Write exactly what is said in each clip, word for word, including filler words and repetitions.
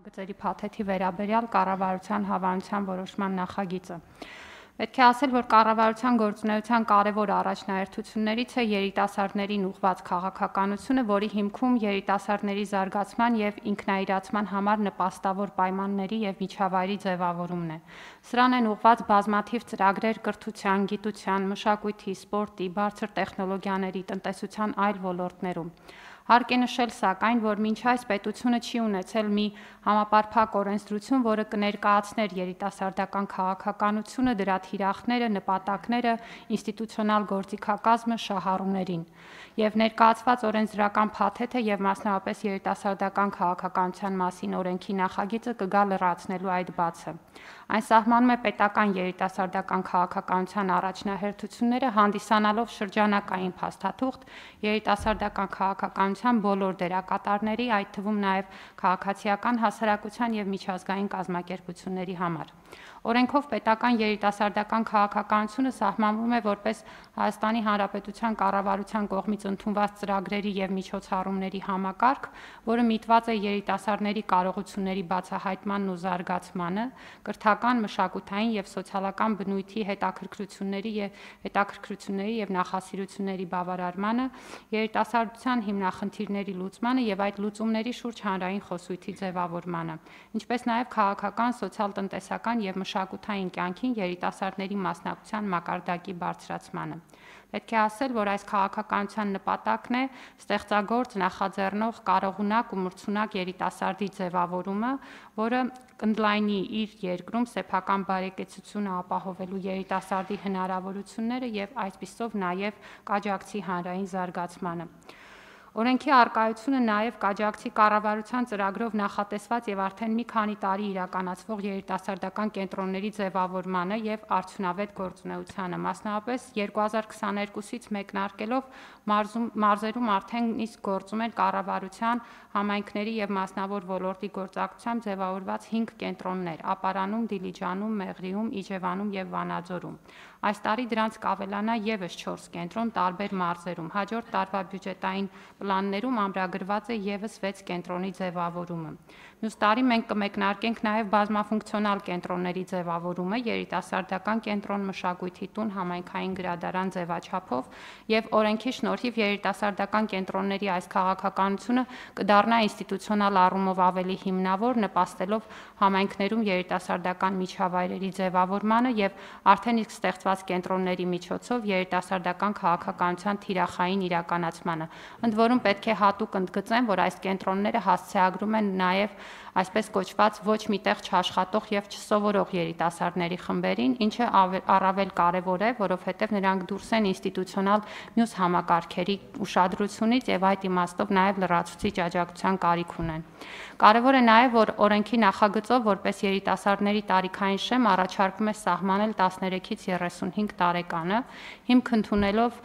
նախագծերի փաթեթի վերաբերյալ կառավարության հավանության որոշման նախագիծը։ Պետք է ասել, որ կառավարության գործունեության կարևոր առաջնահերթություններից է երիտասարդներին ուղղված քաղաքականությունը, որի հիմքում երիտասարդների զարգացման և ինքնաիրացման համար նպաստավոր պայմանների և միջավայրի ձևավորումն է։ Սրան են ուղղված բազմաթիվ ծրագրեր կրթության, գիտության, մշակույթի, սպորտի, բարձր տեխնոլոգիաների, տնտեսության այլ ոլորտներում։ Հարկ է նշել, սակայն, որ մինչ այս պետությունը չի ունեցել մի համապարփակ օրենսդրություն, որը կներկայացներ երիտասարդական քաղաքականությունը, դրա թիրախները, նպատակները, ինստիտուցիոնալ գործիքակազմը, շահառուներին։ Եվ ներկայացված օրենսդրական փաթեթը և մասնավորապես երիտասարդական քաղաքականության մասին օրենքի նախագիծը կգա լրացնելու այդ բացը։ Այն սահմանում է պետական երիտասարդական քաղաքականության առաջնահերթությունները, հանդիսանալով շրջանակային փաստաթուղթ երիտասարդական քաղաքականության բոլոր դերակատարների, այդ թվում նաև քաղաքացիական հասարակության և միջազգային կազմակերպությունների համար։ Օրենքով պետական երիտասարդական քաղաքականությունը սահմանվում է որպես Հայաստանի Հանրապետության կառավարության կողմից ընդունված ծրագրերի և միջոցառումների համակարգ, որը միտված է երիտասարդների կարողությունների բացահայտմանն ու զարգացմանը, կրթական, մշակութային և սոցիալական բնույթի հետաքրքրությունների և նախասիրությունների բավարարմանը, երիտասարդության հիմնախնդիրների լուծմանը և այդ լուծումների շուրջ հանրային խոսույթի ձևավորմանը, ինչպես նաև քաղաքական, սոցիալ-տնտեսական և մշակութային կյանքին երիտասարդների մասնակցության մակարդակի բարձրացմանը։ Պետք է ասել, որ այս քաղաքականության նպատակն է ստեղծագործ, նախաձեռնող, կարողունակ ու մրցունակ երիտասարդի ձևավորումը, որը կընդլայնի իր երկրում սեփական բարեկեցությունը ապահովելու երիտասարդի հնարավորությունները և այսպիսով նաև կաջակցի հանրային զարգացմանը։ Օրենքի առկայությունը նաև կաջակցի կառավարության ծրագրով նախատեսված և արդեն մի քանի տարի իրականացվող երիտասարդական կենտրոնների ձևավորմանը և արդյունավետ գործունեությանը, մասնավորապես երկու հազար քսաներկուսից մեկնարկելով մարզերում արդեն իսկ գործում են կառավարության, համայնքների և մասնավոր ոլորտի գործակցությամբ ձևավորված հինգ կենտրոններ՝ Ապարանում, Դիլիջանում, Մեղրիում, Իջևանում և Վանաձորում։ Այս տարի դրանց կավելանա ևս չորս կենտրոն տարբեր մարզերում։ Հաջորդ տարվա բյուջետային պլաններում ամրագրված է ևս վեց կենտրոնի ձևավորումը։ Մյուս տարի մենք կմեկնարկենք նաև բազմաֆունկցիոնալ կենտրոնների ձևավորումը՝ երիտասարդական կենտրոն, մշակույթի տուն, համայնքային գրադարան ձևաչափով, և օրենքի շնորհիվ երիտասարդական կենտրոնների այս քաղաքականությունը կդառնա ինստիտուցիոնալ առումով ավելի հիմնավոր, նպաստելով համայնքներում երիտասարդական միջավայրերի ձևավորմանը և արդեն իսկ ստեղծված կենտրոնների միջոցով երիտասարդական քաղաքականության թիրախային իրականացմանը։ Ընդ որում պետք է հատուկ ընդգծեմ, որ այս կենտրոնները հասցեագրում են նաև այսպես կոչված ոչ մի տեղ չաշխատող և չսովորող երիտասարդների խմբերին, ինչը առավել կարևոր է, որովհետև նրանք դուրս են ինստիտուցիոնալ մյուս համակարգերի ուշադրությունից և այդ իմաստով նաև լրացուցիչ աջակցության կարիք ունեն։ Կարևոր է նաև, որ օրենքի նախագծով որպես երիտասարդների տարիքային շեմ առաջարկվում է սահմանել տասներեքից երեսունհինգ տարեկանը, հիմք ընդունելով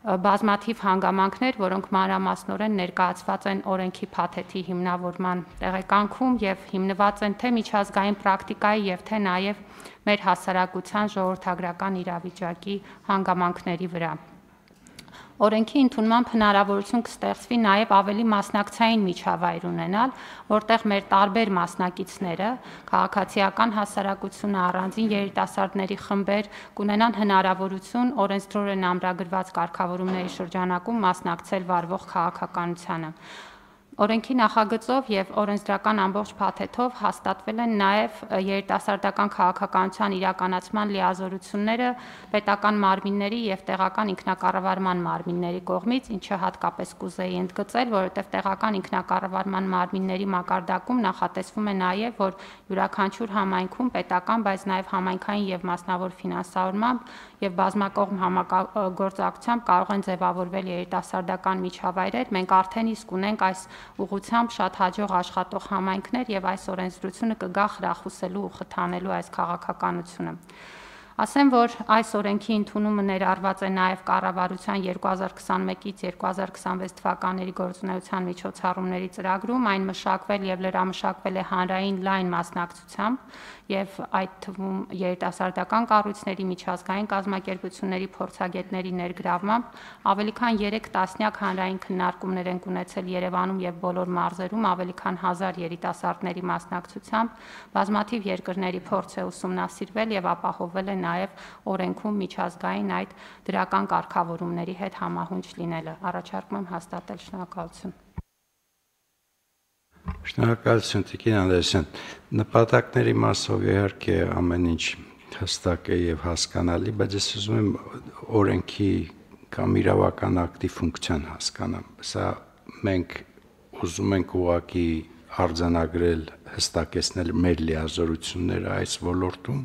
բազմաթիվ հանգամանքներ, որոնք մանրամասնորեն ներկայացված են օրենքի փաթեթի հիմնավորման տեղեկանքում և հիմնված են թե միջազգային պրակտիկայի և թե նաև մեր հասարակության ժողովրդագրական իրավիճակի հանգամանքների վրա։ Օրենքի ընդունմամբ հնարավորություն կստեղծվի նաև ավելի մասնակցային միջավայր ունենալ, որտեղ մեր տարբեր մասնակիցները, քաղաքացիական հասարակությունը, առանձին երիտասարդների խմբեր կունենան հնարավորություն օրենսդրորեն ամրագրված կարգավորումների շրջանակում մասնակցել վարվող քաղաքականությանը։ Օրենքի նախագծով և օրենսդրական ամբողջ փաթեթով հաստատվել են նաև երիտասարդական քաղաքականության իրականացման լիազորությունները պետական մարմինների և տեղական ինքնակառավարման մարմինների կողմից, ինչը հատկապես կուզեի ընդգծել, որովհետև տեղական ինքնակառավարման մարմինների մակարդակում նախատեսվում է նաև, որ յուրաքանչյուր համայնքում պետական, բայց նաև համայնքային և մասնավոր ֆինանսավորմամբ և բազմակողմ համագործակցությամբ կարող են ձևավորվել երիտասարդական միջավայրեր։ Մենք արդեն իսկ ունենք այս ուղղությամբ շատ հաջող աշխատող համայնքներ և այս օրենսդրությունը կգա խրախուսելու ու խթանելու այս քաղաքականությունը։ Ասեմ, որ այս օրենքի ընդունումը ներառված է նաև կառավարության երկու հազար քսանմեկից երկու հազար քսանվեց թվականների գործունեության միջոցառումների ծրագրում, այն մշակվել եւ լրամշակվել է հանրային լայն մասնակցությամբ եւ այդ թվում երիտասարդական կառույցների, միջազգային կազմակերպությունների, փորձագետների ներգրավմամբ ավելի քան երեք տասնյակ հանրային քննարկումներ են ունեցել Երևանում եւ բոլոր մարզերում ավելի քան հազար երիտասարդների մասնակցությամբ, բազմաթիվ երկրների փորձ է ուսումնասիրվել եւ ապահովվել է նաև օրենքում միջազգային այդ դրական կարգավորումների հետ համահունչ լինելը։ Առաջարկում եմ հաստատել։ Շնորհակալություն։ Շնորհակալություն Տիկին Անդրեասյան։ Նպատակների մասով իհարկե ամեն ինչ հստակ է եւ հասկանալի, բայց ես ուզում եմ օրենքի կամ իրավական ակտի ֆունկցիան հասկանամ։ Սա մենք ուզում ենք ուղղակի արձանագրել, հստակեցնել մեր լիազորությունները այս ոլորտում,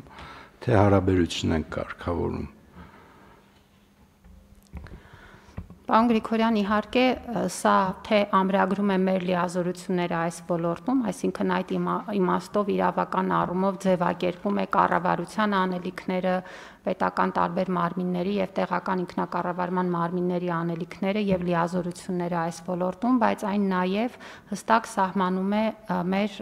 թե հարաբերություն են կարգավորում։ Պարոն Գրիգորյան, իհարկե, սա թե ամրագրում է մեր լիազորությունները այս ոլորտում, այսինքն այդ իմաստով իրավական առումով ձևակերպում է կառավարության անելիքները, պետական տարբեր մարմինների եւ տեղական ինքնակառավարման մարմինների անելիքները եւ լիազորությունները այս ոլորտում, բայց այն նաեւ հստակ սահմանում է մեր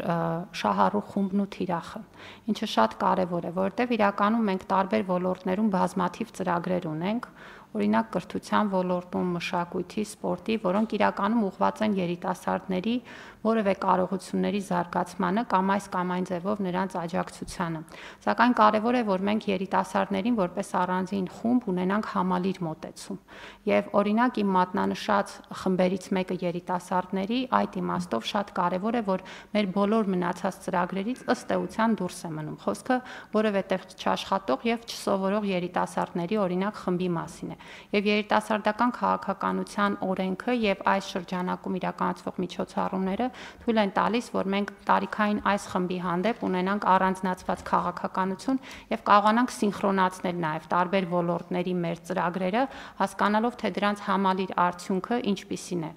շահառու խումբն ու թիրախը, ինչը շատ կարեւոր է, որովհետեւ իրականում մենք տարբեր ոլորտներում բազմաթիվ ծրագրեր ունենք, օրինակ կրթության ոլորտում, մշակույթի, սպորտի, որոնք իրականում ուղղված են երիտասարդների որևէ կարողությունների զարգացմանը կամ այս կամ այն ձևով նրանց աջակցությանը։ Սակայն կարևոր է, որ մենք երիտասարդներին որպես առանձին խումբ ունենանք համալիր մոտեցում։ Եվ օրինակ իմ մատնանշած խմբերից մեկը երիտասարդների, այդ իմաստով շատ կարևոր է, որ մեր բոլոր մնացած ծրագրերից ըստ էության դուրս է մնում։ Խոսքը որևէ տեղ չաշխատող եւ չսովորող երիտասարդների օրինակ խմբի մասին է։ Եվ երիտասարդական քաղաքականության օրենքը եւ այս շրջանակում իրականացվող միջոցառումները թույլ են տալիս, որ մենք տարիքային այս խմբի հանդեպ ունենանք առանձնացված քաղաքականություն եւ կարողանանք սինխրոնացնել նաեւ տարբեր ոլորտների մեր ծրագրերը, հասկանալով թե դրանց համալիր արդյունքը ինչպիսին է։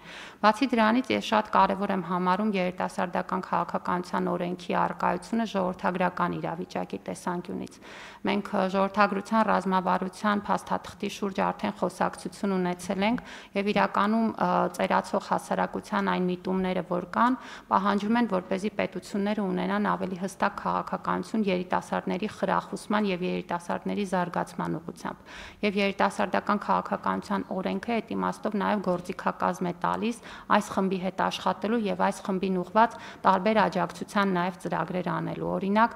Բացի դրանից ես շատ կարեւոր եմ համարում երիտասարդական քաղաքականության օրենքի առկայությունը ժողովրդագրական իրավիճակի տեսանկյունից։ Մենք ժողովրդագրության ռազմավարության փաստաթղթի շուրջ արդեն խոսակցություն ունեցել ենք եւ իրականում ծերացող հասարակության այն միտումները, որ կան, պահանջում են, որպեսզի պետությունները ունենան ավելի հստակ քաղաքականություն երիտասարդների խրախուսման եւ երիտասարդների զարգացման ուղղությամբ։ Եվ երիտասարդական քաղաքականության օրենքը այդ իմաստով նաեւ գործիքակազմ է տալիս այս խմբի հետ աշխատելու եւ այս խմբին ուղղված տարբեր աջակցության նաեւ ծրագրեր անելու։ Օրինակ,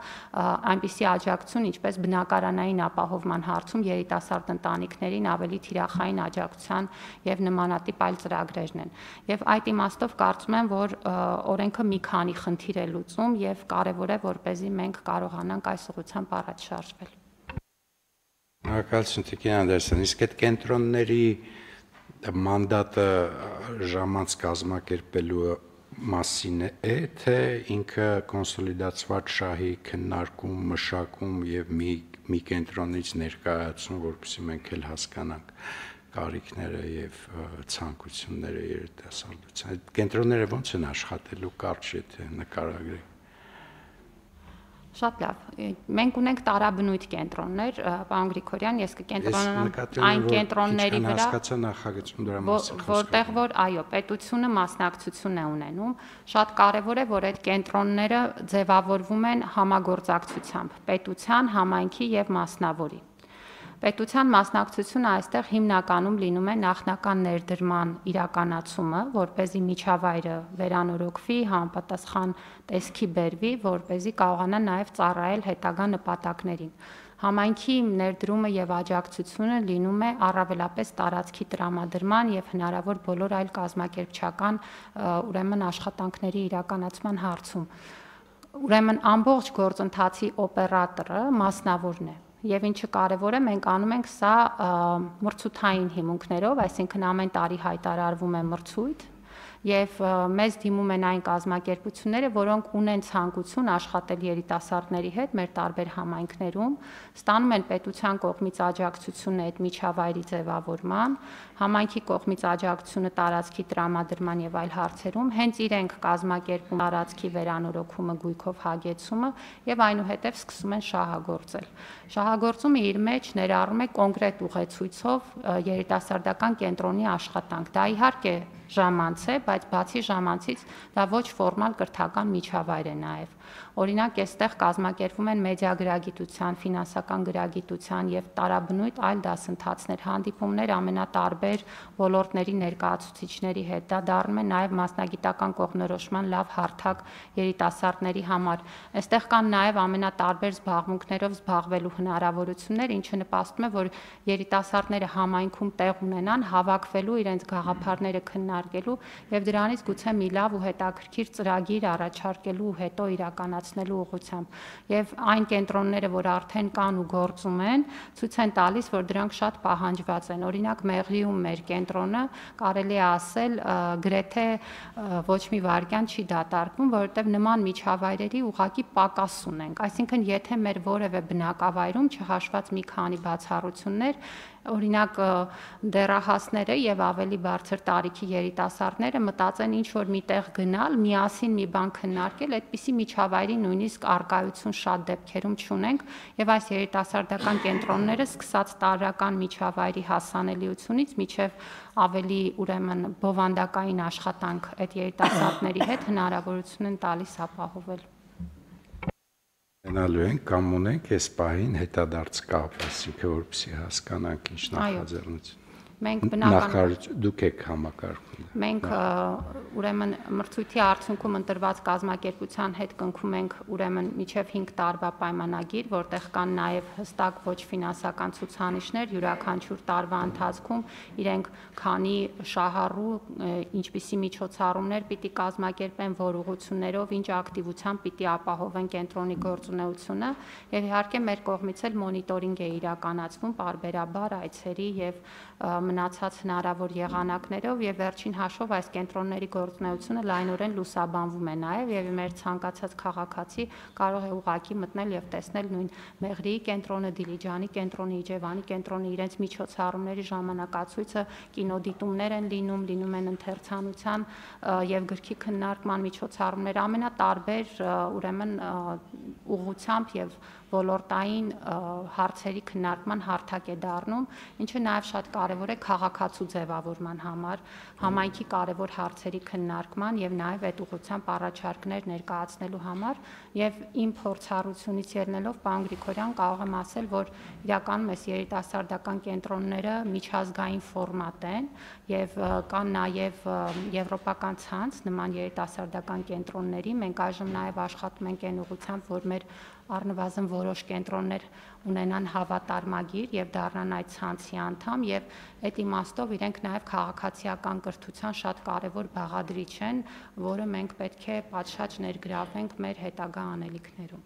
այնպիսի աջակցություն, ինչպես բնակարանային ապահովման հարցում երիտասարդ ընտանիքներին ավելի թիրախային աջակցության եւ նմանատիպ այլ ծրագրերն են։ Եվ այդ իմաստով կարծում եմ, որ օրենքը մի քանի խնդիր է լուծում եւ կարեւոր է, որպեսզի մենք կարողանանք այս ուղղությամբ առաջ շարժվել։ Շնորհակալություն Տիկին Անդրեասյան, իսկ այդ կենտրոնների մանդատը ժամանց կազմակերպելու մասին է, թե ինքը կոնսոլիդացված շահի քննարկում, մշակում եւ մի մի կենտրոնից ներկայացում, որպեսզի մենք էլ հասկանանք կարիքները եւ ցանկությունները երիտասարդության։ Այդ կենտրոնները ո՞նց են աշխատելու, կարճ եթե նկարագրեք։ Շատ լավ։ Մենք ունենք տարաբնույթ կենտրոններ, պարոն Գրիգորյան, ես կկենտրոնանամ այն կենտրոնների վրա, որտեղ որ այո, պետությունը մասնակցություն է ունենում։ Շատ կարևոր է, որ այդ կենտրոնները ձևավորվում են համագործակցությամբ պետության, համայնքի եւ մասնավորի։ Պետության մասնակցությունը այստեղ հիմնականում լինում է նախնական ներդրման իրականացումը, որպեսզի միջավայրը վերանորոգվի, համապատասխան տեսքի բերվի, որպեսզի կարողանա նաև ծառայել հետագա նպատակներին։ Համայնքի ներդրումը եւ աջակցությունը լինում է առավելապես տարածքի տրամադրման եւ հնարավոր բոլոր այլ կազմակերպչական ուրեմն աշխատանքների իրականացման հարցում։ Ուրեմն ամբողջ գործընթացի օպերատորը մասնավորն է։ Եվ ինչը կարևոր է, մենք անում ենք սա մրցութային հիմունքներով, այսինքն ամեն տարի հայտարարվում է մրցույթ եւ մեզ դիմում են այն կազմակերպությունները, որոնք ունեն ցանկություն աշխատել երիտասարդների հետ մեր տարբեր համայնքներում, ստանում են պետության կողմից աջակցություն այդ միջավայրի ձևավորման, համայնքի կողմից աջակցությունը տարածքի տրամադրման եւ այլ հարցերում, հենց իրենք կազմակերպում տարածքի վերանորոգումը, գույքով հագեցումը եւ այնուհետեւ սկսում են շահագործել։ Շահագործումը իր մեջ ներառում է կոնկրետ ուղեցույցով երիտասարդական կենտրոնի աշխատանք։ Դա իհարկե ժամանց է, բայց բացի ժամանցից դա ոչ ֆորմալ կրթական միջավայր է նաև։ Օրինակ, այստեղ կազմակերպվում են մեդիագրագիտության, ֆինանսական գրագիտության եւ տարաբնույթ այլ դասընթացներ, հանդիպումներ ամենատարբեր ոլորտների ներկայացուցիչների հետ։ Դա դառնում է նաև մասնագիտական կողմնորոշման լավ հարթակ երիտասարդների համար։ Այստեղ կան նաև ամենատարբեր զբաղմունքներով զբաղվելու հնարավորություններ, ինչը նպաստում է, որ երիտասարդները համայնքում տեղ ունենան, հավաքվելու, իրենց գաղափարները քննարկելու եւ դրանից գուցե մի լավ ու հետաքրքիր ծրագիր առաջարկելու հետո իրականացնելու ուղղությամբ։ Եվ այն կենտրոնները, որ արդեն կան ու գործում են, ցույց են տալիս, որ դրանք շատ պահանջված են։ Օրինակ Մեղրիում մեր կենտրոնը կարելի է ասել գրեթե ոչ մի վայրկյան չի դատարկվում, որովհետեւ նման միջավայրերի ուղղակի պակաս ունենք։ Այսինքն, եթե մեր որևէ բնակավայրում չհաշված մի քանի բացառություններ, օրինակ դեռահասները եւ ավելի բարձր տարիքի երիտասարդները մտածեն ինչ որ միտեղ գնալ, միասին մի բան քննարկել, այդպիսի միջավայրի նույնիսկ արկայություն շատ դեպքերում չունենք եւ այս երիտասարդական կենտրոնները սկսած տարրական միջավայրի հասանելիությունից մինչեւ ավելի ուրեմն բովանդակային աշխատանք այդ երիտասարդների հետ հնարավորություն են տալիս ապահովել։ Ունենալու ենք կամ ունենք այս պահին հետադարձ կապ, այսինքն որպեսզի հասկանանք ինչ նախաձեռնություն։ Մենք բնական դուք եք համակարգում։ Մենք ուրեմն մրցույթի արդյունքում ընտրված կազմակերպության հետ կնքում ենք ուրեմն մինչև հինգ տարվա պայմանագիր, որտեղ կան նաև հստակ ոչ ֆինանսական ցուցանիշներ, յուրաքանչյուր տարվա ընթացքում իրենք քանի շահառու, ինչպիսի միջոցառումներ պիտի կազմակերպեն, որ ուղղություններով, ինչ ակտիվությամբ պիտի ապահովեն կենտրոնի գործունեությունը, եւ իհարկե մեր կողմից էլ մոնիտորինգ է իրականացվում պարբերաբար այցերի եւ մնացած հնարավոր եղանակներով եւ վերջին հաշվով այս կենտրոնների գործունեությունը լայնորեն լուսաբանվում է նաեւ եւ մեր ցանկացած քաղաքացի կարող է ուղակի մտնել եւ տեսնել նույն Մեղրիի կենտրոնը, Դիլիջանի կենտրոնը, Իջևանի կենտրոնը, իրենց միջոցառումների ժամանակացույցը, կինոդիտումներ են լինում, լինում են ընթերցանության եւ գրքի քննարկման միջոցառումներ, ամենատարբեր ուրեմն ուղղությամբ եւ ոլորտային հարցերի քննարկման հարթակ է դառնում, ինչը նաև շատ կարևոր է քաղաքացու ձևավորման համար, համայնքի կարևոր հարցերի քննարկման եւ նաև այդ ուղղությամբ առաջարկներ ներկայացնելու համար եւ իմ փորձառությունից ելնելով պարոն Գրիգորյան կարող եմ ասել, որ իրականում այս երիտասարդական կենտրոնները միջազգային ֆորմատ են եւ կան նաև եվրոպական ցանց նման երիտասարդական կենտրոնների, մենք այժմ նաև աշխատում ենք այն ուղղությամբ, որ մեր առնվազն որոշ կենտրոններ ունենան հավատարմագիր եւ դառնան այդ ցանցի անդամ եւ այդ իմաստով իրենք նաեւ քաղաքացիական կրթության շատ կարեւոր բաղադրիչ են, որը մենք պետք է պատշաճ ներգրավենք մեր հետագա անելիքներում։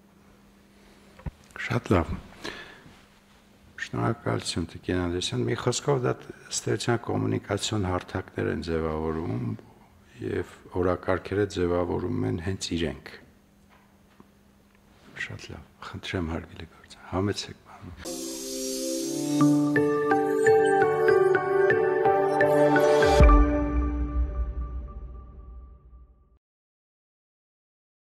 Շատ լավ։ Շնորհակալություն Տիկին Անդրեասյան։ Մի խոսքով դա ստեղծան կոմունիկացիոն հարթակներ են ձևավորում եւ օրակարգերը ձևավորում են հենց իրենք։ Շատ լավ, խնդրեմ հարգելի գործ, համեցեք բանը։